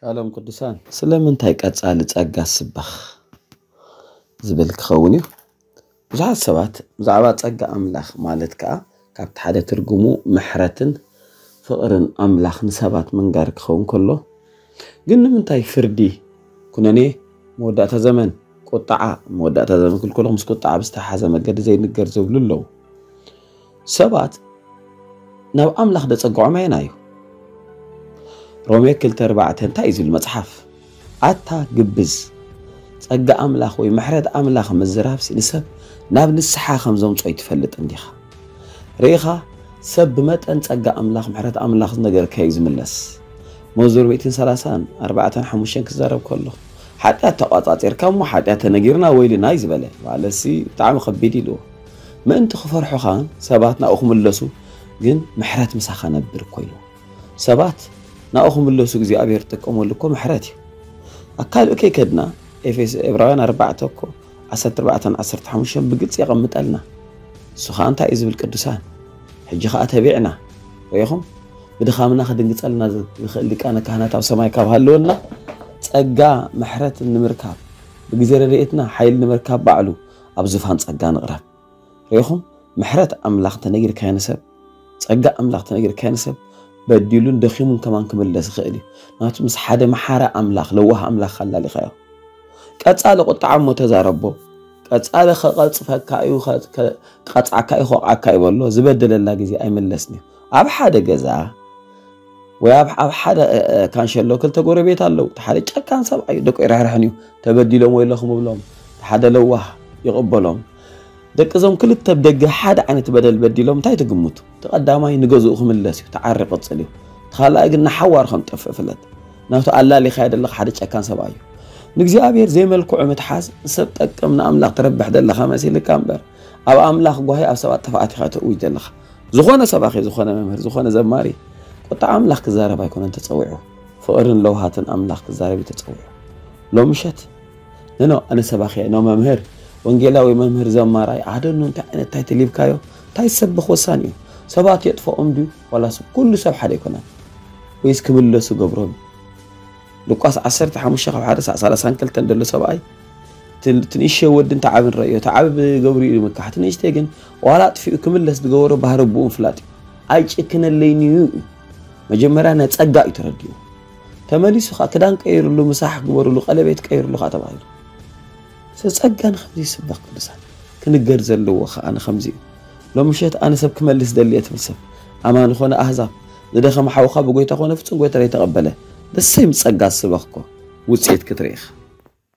ሻሎም ቅዱሳን፣ ስለምንታይ ቀጻሊ ጸጋ ስበኽ ዝብል ክኸውን እዩ። ብዙሓት ሰባት ብዛዕባ ጸጋ ኣምላኽ ማለት ከኣ ካብቲ ሓደ ትርጉሙ ምሕረትን ፍቕርን ኣምላኽ ንሰባት ምንጋር ክኸውን ከሎ፣ ግን ንምንታይ ፍርዲ፣ ኩነኔ፣ መወዳእታ ዘመን፣ ቁጥዓ፣ መወዳእታ ዘመን ክልኩሎም ምስ ቁጥዓ ብዝተሓሓዘ መገዲ ዘይንገር ዝብሉ ኣለዉ። ሰባት ናብ ኣምላኽ ደጸግዖም ኣየና እዩ? ሮሜ ክልተ ኣርባዕተ እንታይ እዩ ዝብል መጽሓፍ? ኣታ ግብዝ፣ ጸጋ ኣምላኽ ወይ ምሕረት ኣምላኽ ምዝራብሲ ንሰብ ናብ ንስሓ ከም ዘምጾ ይትፈልጥ እንዲኻ? ርኢኻ፣ ሰብ ብመጠን ጸጋ ኣምላኽ ምሕረት ኣምላኽ ዝነገርካዮ እዩ ዝምለስ። መዝሙር ሚእትን ሰላሳን ኣርባዕተን ሓሙሽተን ክዛረብ ከሎ፣ ሓጢኣት ተቋጻጺርካ እሞ ሓጢኣት ተነጊርና ወይልና እዩ ዝበለ። ማለትሲ ብጣዕሚ ከቢድ ኢልዎ። ምእንቲ ክፈርሑኻን ሰባት ናብኡ ክምለሱ ግን ምሕረት ምሳኻ ነብር እኮ ኢልዎ። ሰባት ናብኡ ክምለሱ እግዚኣብሔር ዝጥቀመሉ እኮ ምሕረት እዩ። ኣብ ካልእ ከይከድና ኤፌሶ፣ ዕብራውያን ኣርባዕተ እኮ ዓሰርተ ኣርባዕተን ዓሰርተ ሓሙሽተን ብግልጺ የቐምጠልና። እሱ ኸኣ እንታይ እዩ ዝብል ቅዱሳን? ሕጂ ኸኣ ተቢዕና ርኢኹም ብድኻምና ክድንግጸልና ዝኽእል ሊቃነ ካህናት ኣብ ሰማይ ካብ ሃለወና ጸጋ ምሕረት ንምርካብ ብግዜ ረድኤትና ሓይሊ ንምርካብ ባዕሉ ኣብ ዙፋን ጸጋ ንቕረብ። ርኢኹም ምሕረት ኣምላኽ ተነጊርካዮ ንሰብ፣ ጸጋ ኣምላኽ ተነጊርካዮ ንሰብ በዲሉን ደኺሙን ከማን ክምለስ ይኽእል እዩ። ናቱ ምስ ሓደ መሓረ ኣምላኽ ለዋህ ኣምላኽ ኣላሊኻዮ። ቀጻሊ ቁጥዓ እሞ ተዛረቦ። ቀጻሊ ከቐጽፈካ እዩ፣ ከ- ከ- ቀጽዓካ እዩ፣ ከወቕዓካ እዩ በሎ። ዝበደለላ ግዜ ኣይምለስን እዩ። ኣብ ሓደ ገዛ ወይ ኣብ ኣብ ሓደ እ- እ- ካንሸሎ ክልተ ጎረቤት ኣለዉ። እቲ ሓደ ጨካን ሰብኣይ እዩ፣ ደቁ ኣይርሕርሕን እዩ። ተበዲሎም ወይለኹም እብሎም። እቲ ሓደ ለዋህ ይቕበሎም። ደቂ እዞም ክልተ ብደገ ሓደ ዓይነት በደል በዲሎም እንታይ ትግምቱ? እቲ ቀዳማይ ንገዝኡ ክምለስ እዩ፣ እቲ ዓሪ ይቕጽል እዩ። እቲ ካልኣይ ግን ንሓዋሩ ከም ዝጠፍእ ፍለጥ። ናቱ ኣላሊኻዮ ዘለኻ ሓደ ጨካን ሰብኣይ እዩ። ንእግዚኣብሔር ዘይመልክዑ ምትሓዝ ንሰብ ጠቅም ንኣምላኽ ትረብሕ ዘለኻ መሲልካ እምበር ኣብ ኣምላኽ ጓሂ ኣብ ሰባት ጥፍኣት ኢኻ ተእውጅ ዘለኻ። ዝኾነ ሰባኺ፣ ዝኾነ መምህር፣ ዝኾነ ዘማሪ ቁጣ ኣምላኽ ክዛረብ ኣይኮነን ተጸዊዑ፣ ፍቕርን ለውሃትን ኣምላኽ ክዛረብ እዩ ተጸዊዑ። ሎምሸት ንኖ ኣነ ሰባኺ ኖ መምህር ወንጌላዊ መምህር ዘማራይ ኣደኑ እንታይ ዓይነት እንታይ ተሊብካዮ እንታይ ሰብኽ ወሳኒ እዩ። ሰባት የጥፈኦም ድዩ ዋላስ ኩሉ ሰብ ሓደ ኣይኮነን? ወይስ ክምለሱ ገብሮም? ሉቃስ ዓሰርተ ሓሙሽተ ካብ ሓደ ሳዕ ሰላሳን ክልተን ዘሎ ሰብኣይ ትንእሸ ወድን ተዓብን ረእዮ። ተዓብ ገብሩ እዩ ምካሕ ትንእሽተይ ግን ዋላ ኣጥፊኡ ክምለስ ዝገበሮ ባህሪ ብኡ ምፍላጥ እዩ። ኣይጭክነለይን እዩ እዩ። መጀመርያ ናይ ጸጋ እዩ ተረዲኡ። ተመሊሱ ከዓ ክዳን ቀይርሉ ምሳሕ ግበርሉ ቀለቤት ቀይርሉ ከዓ ተባሂሉ። ስለዚ ጸጋ ንከምዚ ይስበኽ ቅዱሳን ክንገር ዘለዎ ከዓ ንከምዚ እዩ። ሎምሸት ኣነ ሰብ ክመልስ ደልየ ትብል ሰብ ኣማን ኾነ ኣህዛብ ዝደኸመ ሓውኻ ብጎይታ ኾነ ፍጹም ጎይታ ዘይተቐበለ ደሰይ ምስ ጸጋ ዝስበኽኮ ውፅኢት ክትርኢ ኢኻ።